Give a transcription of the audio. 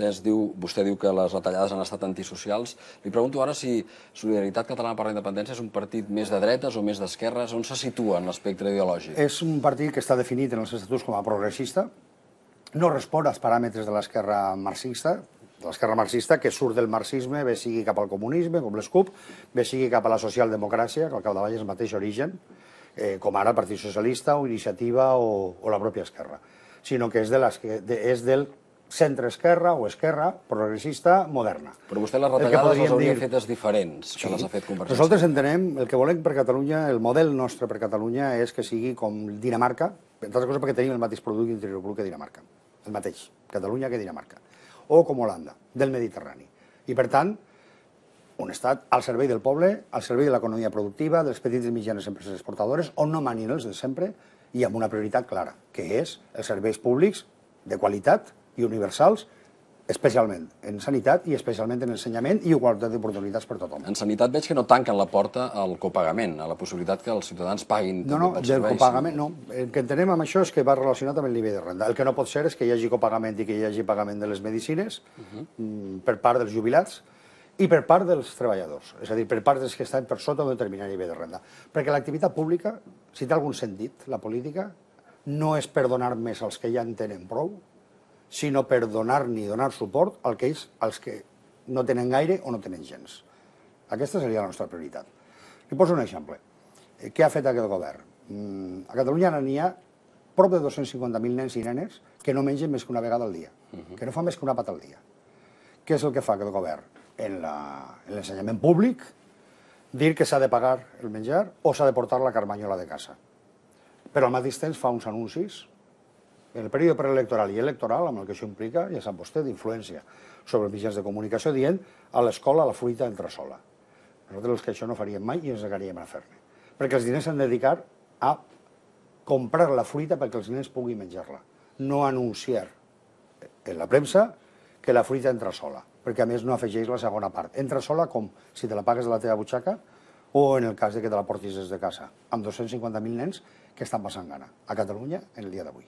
Vostè diu que les retallades han estat antisocials. Li pregunto ara si Solidaritat Catalana per la Independència és un partit més de dretes o més d'esquerres. On se situa en l'espectre ideològic? És un partit que està definit en els estatuts com a progressista, no respon als paràmetres de l'esquerra marxista, que surt del marxisme, bé sigui cap al comunisme, com les CUP, bé sigui cap a la socialdemocràcia, que al capdavall és el mateix origen, com ara el Partit Socialista o Iniciativa o la pròpia Esquerra, sinó que és del centre-esquerra o esquerra progressista moderna. Però vostè les retallades les hauria fetes diferents que les ha fet Convergència. Nosaltres entenem, el que volem per Catalunya, el model nostre per Catalunya és que sigui com Dinamarca, entre altres coses perquè tenim el mateix producte interior brut que Dinamarca, el mateix, Catalunya que Dinamarca, o com Holanda, del Mediterrani. I per tant, un estat al servei del poble, al servei de l'economia productiva, de les petites i mitjanes empreses exportadores, on no manin els de sempre i amb una prioritat clara, que és els serveis públics de qualitat i universals, especialment en sanitat i especialment en ensenyament i igualtat d'oportunitats per tothom. En sanitat veig que no tanquen la porta al copagament, a la possibilitat que els ciutadans paguin també pels serveis. Del copagament no. El que entenem amb això és que va relacionat amb el nivell de renda. El que no pot ser és que hi hagi copagament i que hi hagi pagament de les medicines per part dels jubilats i per part dels treballadors, és a dir, per part dels que estan per sota d'un determinat nivell de renda. Perquè l'activitat pública, si té algun sentit, la política, no és per donar més als que ja en tenen prou, sinó per donar-ni i donar suport als que no tenen gaire o no tenen gens. Aquesta seria la nostra prioritat. Li poso un exemple. Què ha fet aquest govern? A Catalunya n'hi ha prop de 250.000 nens i nenes que no mengen més que una vegada al dia, que no fan més que una pata al dia. Què és el que fa aquest govern? En l'ensenyament públic, dir que s'ha de pagar el menjar o s'ha de portar la carmanyola de casa. Però al mateix temps fa uns anuncis, en el període preelectoral i electoral, amb el que això implica, ja sap vostè, d'influència sobre els mitjans de comunicació, dient a l'escola la fruita entra sola. Nosaltres els que això no faríem mai i ens negaríem a fer-ne. Perquè els diners s'han de dedicar a comprar la fruita perquè els nens puguin menjar-la, no anunciar en la premsa que la fruita entra sola, perquè a més no afegeix la segona part. Entra sola com si te la pagues de la teva butxaca o en el cas de que te la portis des de casa, amb 250.000 nens que estan passant gana a Catalunya en el dia d'avui.